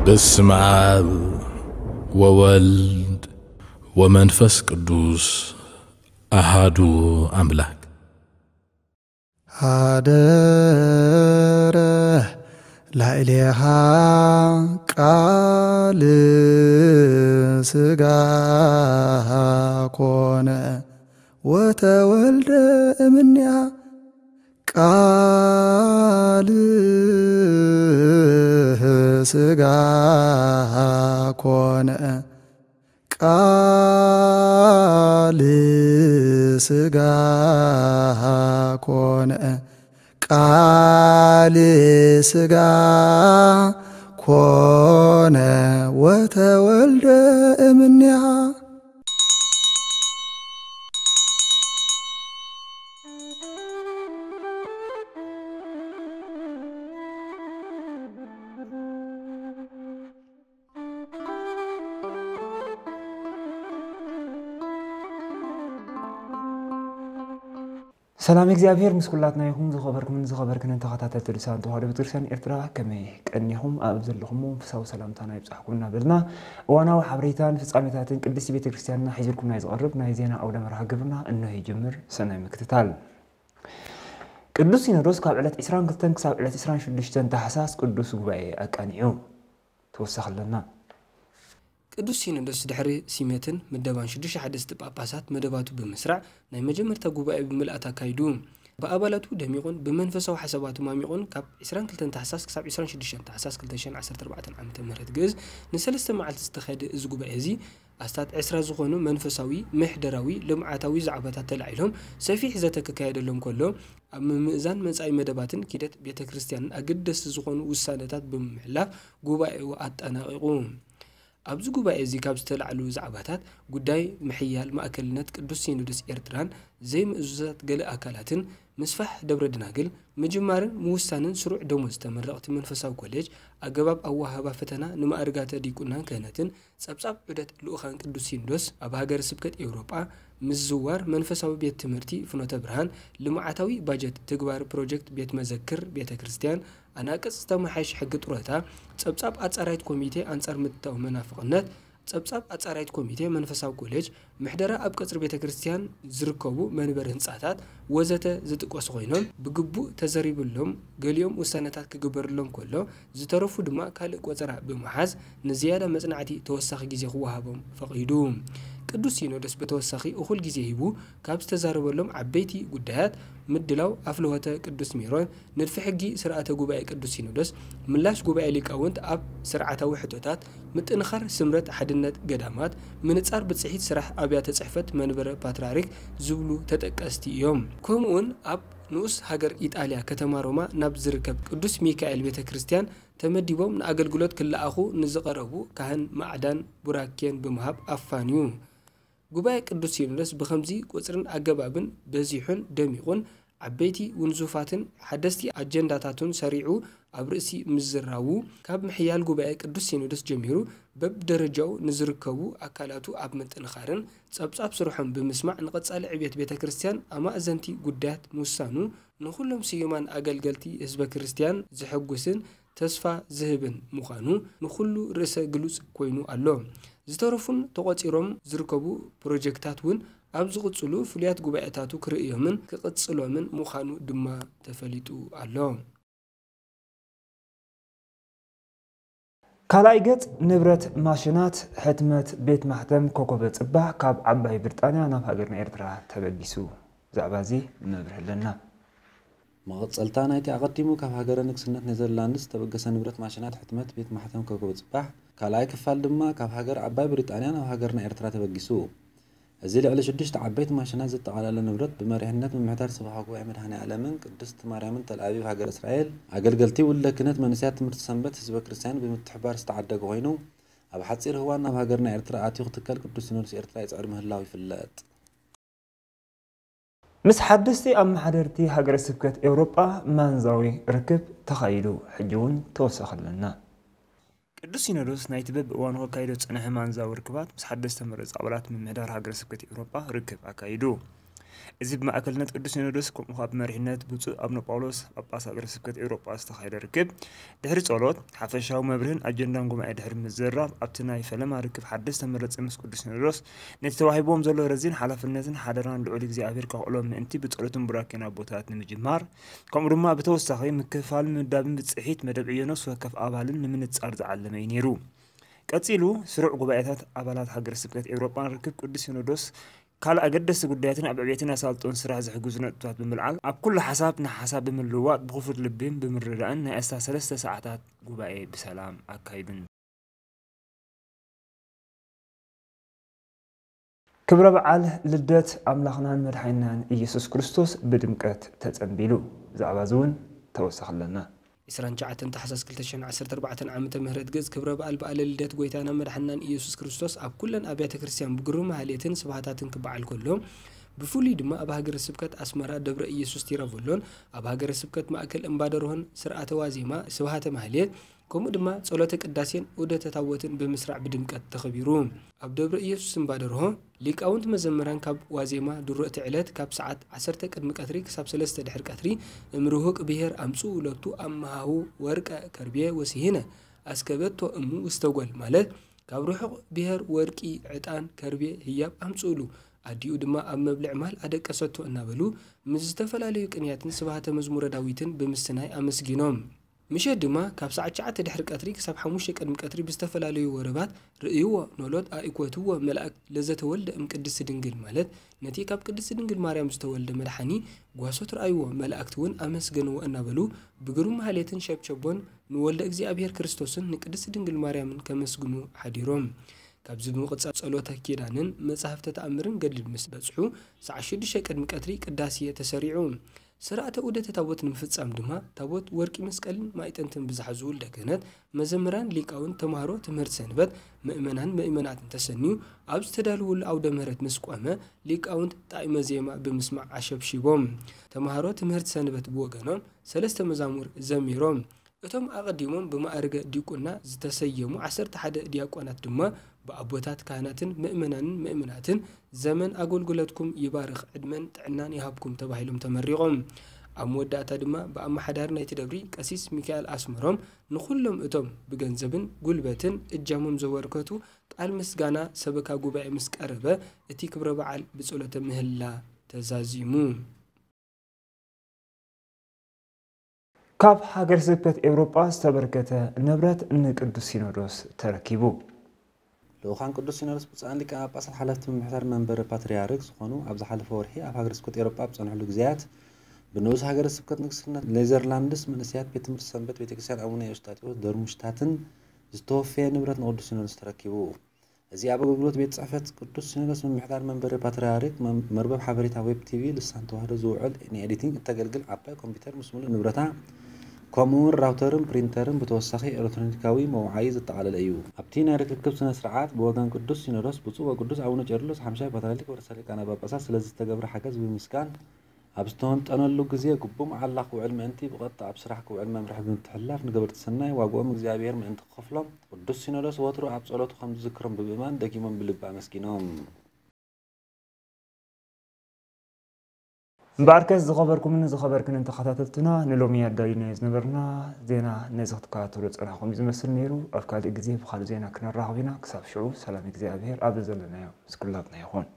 በስመ አብ ወወልድ ወመንፈስ ቅዱስ አሃዱ አምላክ። ሀደረ ላዕሌሃ ቃል ሥጋ ኮነ ወተወልደ እምኔሃ ቃል ሥጋ ኮነ ቃል ሥጋ ኮነ ቃል ሥጋ ኮነ ወተወልደ እምኔሃ። ሰላም እግዚኣብሔር ምስ ኩላትና ይኹን። ዝኸበርኩምን ዝኸበርክንን ተኸታተልቲ ልሳን ተዋህዶ ቤተክርስትያን ኤርትራ፣ ከመይ ቀኒኹም? ኣብ ዘለኹም መንፈሳዊ ሰላምታና ይብጻሕኩም እናበልና፣ እዋናዊ ሓበሬታን ፍጻሜታትን ቅድስቲ ቤተክርስትያንና ሒዝልኩም ናይ ዝቐርብ ናይ ዜና ኣውደ መርሃ ግብርና እንሆ ይጅምር። ሰናይ ምክትታል። ቅዱስ ሲኖዶስ ካብ ዕለት ዕስራን ክልተን ክሳብ ዕለት ዕስራን ሽዱሽተን ታሕሳስ ቅዱስ ጉባኤ ኣቃኒዑ። ተወሳኺ ኣለና። ቅዱስ ሲኖዶስ ድሕሪ ሲመትን ምደባን ሽዱሽተ ሓደስቲ ጳጳሳት መደባቱ ብምስራዕ፣ ናይ መጀመርታ ጉባኤ ብምልኣት ኣካይዱ። ብኣባላቱ ደሚቑን ብመንፈሳዊ ሓሳባቱ ማሚቑን፣ ካብ ዕስራን ክልተን ታሕሳስ ክሳብ ዕስራን ሽዱሽተን ታሕሳስ ክልተ ሽሕን ዓሰርተ ኣርባዕተን ዓመተ ምህረት ግእዝ ንሰለስተ መዓልቲ ዝተኻየደ እዚ ጉባኤ እዚ፣ ኣስታት ዕስራ ዝኾኑ መንፈሳዊ፣ ምሕደራዊ፣ ልምዓታዊ ዛዕባታት ተላዒሎም ሰፊሕ ዘተ ክካየደሎም ከሎ፣ ኣብ ምምእዛን መጻኢ መደባትን ኪደት ቤተ ክርስቲያንን ኣገደስቲ ዝኾኑ ውሳነታት ብምሕላፍ ጉባኤኡ ኣጠናቒቑ። ኣብዚ ጉባኤ እዚ ካብ ዝተላዕሉ ዛዕባታት፣ ጉዳይ ምሕያል ማእከልነት ቅዱስ ሲኖዶስ ኤርትራን ዘይምእዙዛት ገለ ኣካላትን፣ ምስፋሕ ደብረ ደናግል፣ ምጅማርን ምውሳንን ስሩዕ ደሞዝ ተመረቕቲ መንፈሳዊ ኮሌጅ፣ ኣገባብ ኣወሃህባ ፈተና ንማእርጋተ ዲቁናን ክህነትን፣ ጸብጻብ ዑደት ልኡኻን ቅዱስ ሲኖዶስ ኣብ ሃገረ ስብከት ኤውሮጳ፣ ምዝዋር መንፈሳዊ ቤት ትምህርቲ ፍኖተ ብርሃን፣ ልምዓታዊ ባጀት ትግባር ፕሮጀክት ቤት መዘክር ቤተ ክርስቲያን፣ ኣናቅጽ ዝተመሓየሸ ሕጊ ጡረታ፣ ጸብጻብ ኣጻራይት ኮሚቴ ኣንጻር ምትታው መናፍቕነት፣ ጸብጻብ ኣጻራይት ኮሚቴ መንፈሳዊ ኮሌጅ፣ ምሕደራ ኣብ ቀጽሪ ቤተ ክርስቲያን ዝርከቡ መንበሪ ህንጻታት ወዘተ ዝጥቀሱ ኮይኖም፣ ብግቡእ ተዘሪብሎም፣ ገሊኦም ውሳነታት ክግበርሎም ከሎ፣ ዝተረፉ ድማ ካልእ ቆጸራ ብምሓዝ ንዝያዳ መጽናዕቲ ተወሳኺ ግዜ ክወሃቦም ፈቒዱ። ቅዱስ ሲኖዶስ ብተወሳኺ እኹል ግዜ ሂቡ ካብ ዝተዛረበሎም ዓበይቲ ጉዳያት፣ ምድላው ኣፍልሆተ ቅዱስ ሜሮን፣ ንድፊ ሕጊ ስርዓተ ጉባኤ ቅዱስ ሲኖዶስ፣ ምላሽ ጉባኤ ሊቃውንት ኣብ ስርዓታዊ ሕቶታት፣ ምጥንኻር ስምረት ሓድነት ገዳማት፣ ምንጻር ብጽሒት ስራሕ ኣብያተ ጽሕፈት መንበረ ፓትርያርክ ዝብሉ ተጠቀስቲ እዮም። ከምኡውን ኣብ ንኡስ ሃገር ኢጣልያ ከተማ ሮማ ናብ ዝርከብ ቅዱስ ሚካኤል ቤተ ክርስቲያን ተመዲቦም ንኣገልግሎት ክለኣኹ ንዝቐረቡ ካህን ማዕዳን ቡራኬን ብምሃብ ኣፋንዩ። ጉባኤ ቅዱስ ሲኖዶስ ብኸምዚ ቁጽርን ኣገባብን በዚሑን ደሚቑን፣ ዓበይቲ ውንዙፋትን ሓደስቲ ኣጀንዳታቱን ሰሪዑ ኣብ ርእሲ ምዝራቡ፣ ካብ ምሕያል ጉባኤ ቅዱስ ሲኖዶስ ጀሚሩ፣ በብደረጃኡ ንዝርከቡ ኣካላቱ ኣብ ምጥንኻርን ጸብጻብ ስርሖም ብምስማዕ፣ ንቐጻሊ ዕብየት ቤተ ክርስቲያን ኣማእዘንቲ ጉዳያት ምውሳኑ፣ ንኹሎም ስዩማን ኣገልገልቲ ህዝበ ክርስቲያን ዘሐጉስን ተስፋ ዝህብን ምዃኑ ንኹሉ ርእሰ ግሉጽ ኮይኑ ኣሎ። ዝተረፉን ተቖጺሮም ዝርከቡ ፕሮጀክታት እውን ኣብ ዝቕጽሉ ፍሉያት ጉባኤታቱ ክርእዮምን ክቕጽሎምን ምዃኑ ድማ ተፈሊጡ ኣሎ። ካልኣይ ገጽ፣ ንብረት ማሽናት ሕትመት ቤት ማሕተም ኮከበ ጽባሕ ካብ ዓባይ ብሪጣንያ ናብ ሃገርና ኤርትራ ተበጊሱ። ብዛዕባ እዚ መብርሂ ኣለና። መቐጸልታ ናይቲ ኣቐዲሙ ካብ ሃገረ ንግስነት ኔዘርላንድስ ዝተበገሰ ንብረት ማሽናት ሕትመት ቤት ማሕተም ኮከበ ጽባሕ፣ ካልኣይ ክፋል ድማ ካብ ሃገር ዓባይ ብሪጣንያ ናብ ሃገርና ኤርትራ ተበጊሱ። እዚ ልዕሊ ሽዱሽተ ዓበይቲ ማሽናት ዘጠቓለለ ንብረት፣ ብመሪሕነት ምምሕዳር ሰበኻ ጉባኤ መድኃኔ ዓለምን ቅድስት ማርያምን ተል ኣቪቭ ሃገረ እስራኤል፣ ኣገልገልቲ ውልደ ክህነት፣ መንእሰያት ትምህርቲ ሰንበት፣ ህዝበ ክርስቲያን ብምትሕብባር ዝተዓደገ ኮይኑ፣ ኣብ ሓጺር እዋን ናብ ሃገርና ኤርትራ ኣትዩ ክትከል ቅዱስ ሲኖዶስ ኤርትራ ይጽዕር ምህላው ይፍለጥ። ምስ ሓደስቲ ኣመሓደርቲ ሃገረ ስብከት ኤውሮጳ ማንዛዊ ርክብ ተኻይዱ። ሕጂ እውን ተወሳኺ ኣለና። ቅዱስ ሲኖዶስ ናይቲ በብእዋኑ ከካይዶ ዝጸንሐ ማንዛዊ ርክባት ምስ ሓደስቲ ተመረጹ ኣባላት ምምሕዳር ሃገረ ስብከት ኤውሮጳ ርክብ ኣካይዱ። እዚ ብማእከልነት ቅዱስ ሲኖዶስ፣ ከምኡ ኸኣ ብመሪሕነት ብፁዕ ኣቡነ ጳውሎስ ጳጳስ ሃገረ ስብከት ኤውሮጳ ዝተኻየደ ርክብ፣ ድሕሪ ጸሎት፣ ሓፈሻዊ መብርህን ኣጀንዳን ጉባኤ ድሕሪ ምዝራብ፣ ኣብቲ ናይ ፈለማ ርክብ ሓድሽ ዝተመረጸ ምስ ቅዱስ ሲኖዶስ ነቲ ተዋሂብዎም ዘሎ ረዚን ሓላፍነትን ሓደራን ልዑል እግዚኣብሔር ከኽእሎም ምእንቲ ብጸሎትን ቡራኬን ኣቦታት ንምጅማር፣ ከምኡ ድማ ብተወሳኺ ምክፍፋልን ምምዳብን ብጽሒት መደብ ዕዮ ነፍሲ ወከፍ ኣባልን ንምንጻር ዝዓለመ እዩ ነይሩ። ቀጺሉ፣ ስሩዕ ጉባኤታት ኣባላት ሃገረ ስብከት ኤውሮጳን ርክብ ቅዱስ ሲኖዶስ ካልእ ኣገደስቲ ጉዳያትን ኣብ ዕብየትን ኣሳልጦን ስራሕ ዝሕግዙ ነጥብታት ብምልዓል፣ ኣብ ኩሉ ሓሳብ ንሓሳብ ብምልውዋጥ ብኽፉት ልብን ብምርድዳእን ናይ ኣስታት ሰለስተ ሰዓታት ጉባኤ ብሰላም ኣካይዱን። ክብረ በዓል ልደት ኣምላኽናን መድሓኒናን ኢየሱስ ክርስቶስ ብድምቀት ተጸንቢሉ። ብዛዕባ እዚ እውን ተወሳኺ ኣለና። ዕስራን ትሽዓተን ታሕሳስ ክልተ ሽሕን ዓሰርተ ኣርባዕተን ዓመተ ምህረት ግእዝ ክብረ በዓል በዓለ ልደት ጎይታና መድሓኒናን ኢየሱስ ክርስቶስ ኣብ ኩለን ኣብያተ ክርስቲያን ብግሩም ማህሌትን ስብሃታትን ክበዓል ከሎ፣ ብፍሉይ ድማ ኣብ ሃገረ ስብከት ኣስመራ ደብረ ኢየሱስ ቲራቮሎን ኣብ ሃገረ ስብከት ማእከል እምባደርሆን ስርዓተ ዋዜማ፣ ስብሃተ ማህሌት፣ ከምኡ ድማ ጸሎተ ቅዳሴን ዑደተ ታቦትን ብምስራዕ ብድምቀት ተኸቢሩ። ኣብ ደብረ ኢየሱስ እምባደርሆ ሊቃውንት መዘምራን ካብ ዋዜማ ድሮ እቲ ዕለት ካብ ሰዓት ዓሰርተ ቅድሚ ቀትሪ ክሳብ ሰለስተ ድሕሪ ቀትሪ እምርሁቅ ብሔር ኣምጽኡ ሎቱ ኣመሃሁ ወርቀ ከርቤ ወስሂነ ኣስከበቶ እሙ ውስተ ጓል ማለት ካብ ርሑቕ ብሔር ወርቂ፣ ዕጣን፣ ከርቤ፣ ህያብ ኣምጽኡሉ፣ ኣዲኡ ድማ ኣብ መብልዕ ማል ኣደቀሰቶ እናበሉ ምስ ዝተፈላለዩ ቅንያትን ስብሃተ መዝሙረ ዳዊትን ብምስናይ ኣመስጊኖም። ምሸት ድማ ካብ ሰዓት ትሽዓተ ድሕሪ ቀትሪ ክሳብ ሓሙሽተ ቅድሚ ቀትሪ ብዝተፈላለዩ ወረባት ርእይዎ ኖሎት ኣእኮትዎ መላእክት ለዘተወልደ እም ቅድስት ድንግል ማለት ነቲ ካብ ቅድስት ድንግል ማርያም ዝተወልደ መድሓኒ ጓሶት ረኣይዎ መላእክት እውን ኣመስገንዎ እናበሉ ብግሩም ማህሌትን ሸብሸቦን ንወልደ እግዚኣብሔር ክርስቶስን ንቅድስት ድንግል ማርያምን ከመስግኑ ሓዲሮም። ካብዚ ብምቕጻል ጸሎተ ኪዳንን መጻሕፍተ ተኣምርን ገድልን ምስ በጽሑ ሰዓት ሽዱሽተ ቅድሚ ቀትሪ ቅዳሴ ተሰሪዑ። ስርዓተ ዑደተ ታቦት ንምፍጻም ድማ ታቦት ወርቂ መስቀልን ማእጠንትን ብዝሓዙ ውልደ ክህነት፣ መዘምራን፣ ሊቃውንት፣ ተማሃሮ ትምህርት ሰንበት፣ ምእመናን ምእመናትን ተሰንዩ ኣብ ዝተዳለወሉ ኣውደ ምህረት ምስ ቆመ ሊቃውንት ጣዕመ ዜማ ብምስማዕ ኣሸብሺቦም። ተማሃሮ ትምህርት ሰንበት ብወገኖም ሰለስተ መዛሙር ዘሚሮም። እቶም ኣቐዲሞም ብማእርገ ዲቁና ዝተሰየሙ ዓሰርተ ሓደ ዲያቆናት ድማ ብኣቦታት ካህናትን ምእመናንን ምእምናትን ዘመን ኣገልግሎትኩም ይባርኽ ዕድመን ጥዕናን ይሃብኩም ተባሂሎም ተመሪቖም። ኣብ መወዳእታ ድማ ብኣመሓዳሪ ናይቲ ደብሪ ቀሲስ ሚካኤል ኣስመሮም ንኹሎም እቶም ብገንዘብን ጉልበትን እጃሞም ዘበርከቱ ቃል ምስጋና ሰበካ ጉባኤ ምስ ቀረበ እቲ ክብረ በዓል ብጸሎተ ምህላ ተዛዚሙ። ካብ ሃገረ ስብከት ኤውሮጳ ዝተበርከተ ንብረት ንቅዱስ ሲኖዶስ ተረኪቡ። ልኡኻን ቅዱስ ሲኖዶስ ብፁዓን ሊቃነ ጳጳሳት ሓለፍቲ ምምሕዳር መንበረ ፓትርያርክ ዝኾኑ ኣብ ዝሓለፈ ወርሒ ኣብ ሃገረ ስብከት ኤውሮጳ ኣብ ዝጸንሕሉ ግዜያት ብንኡስ ሃገረ ስብከት ንግስነት ኔዘርላንድስ መንእሰያት ቤት ትምህርቲ ሰንበት ቤተ ክርስቲያን ኣቡነ ኤውስጣቴዎስ ደርሙሽታትን ዝተወፈየ ንብረት ንቅዱስ ሲኖዶስ ተረኪቡ። እዚ ኣብ ኣገልግሎት ቤት ጽሕፈት ቅዱስ ሲኖዶስ ምምሕዳር መንበሪ ፓትርያርክ መም-፣ መርበብ ሓበሬታ ዌብ ቲቪ ልሳን ተዋህዶ ዝውዕል ንኤዲቲንግ እተገልግል ዓባይ ኮምፒውተር ምስ ምሉእ ንብረታ ከምኡ እውን ራውተርን ፕሪንተርን ብተወሳኺ ኤሌክትሮኒካዊ መውዓዪ ዘጠቓለለ እዩ። ኣብቲ ናይ ርክክብ ስነ ስርዓት ብወገን ቅዱስ ሲኖዶስ ብፁዕ ወቅዱስ ኣቡነ ቄርሎስ ሓምሻይ ፓትርያርክ ርእሰ ሊቃነ ጳጳሳት ስለ ዝተገብረ ሓገዝ ብምምስጋን ኣብ ዝተወንጠነሉ ግዜ ግቡእ መዓላ ክውዕል ምእንቲ ብቐጥታ ኣብ ስራሕ ክውዕል መምርሒ ብምትሕልላፍ ንገበርቲ ሰናይ ዋግኦም እግዚኣብሔር ምእንቲ ክኸፍሎም ቅዱስ ሲኖዶስ ወትሩ ኣብ ጸሎቱ ከም ዝዝክሮም ብምእማን ደጊሞም ብልቢ ኣመስጊኖም። እምበኣርከስ ዝኸበርኩምን ዝኸበርክንን ተኸታተልትና ንሎሚ ኣዳሊናዮ ዝነበርና ዜና ነዚ ክትከታተሉ ዝጸናሕኩም እዩ ዝመስል ነይሩ። ኣብ ካልእ ግዜ ብኻልእ ዜና ክነራኸብ ኢና። ክሳብ ሽዑ ሰላም እግዚኣብሔር ኣብ ዘለናዮ ምስ ኩላትና ይኹን።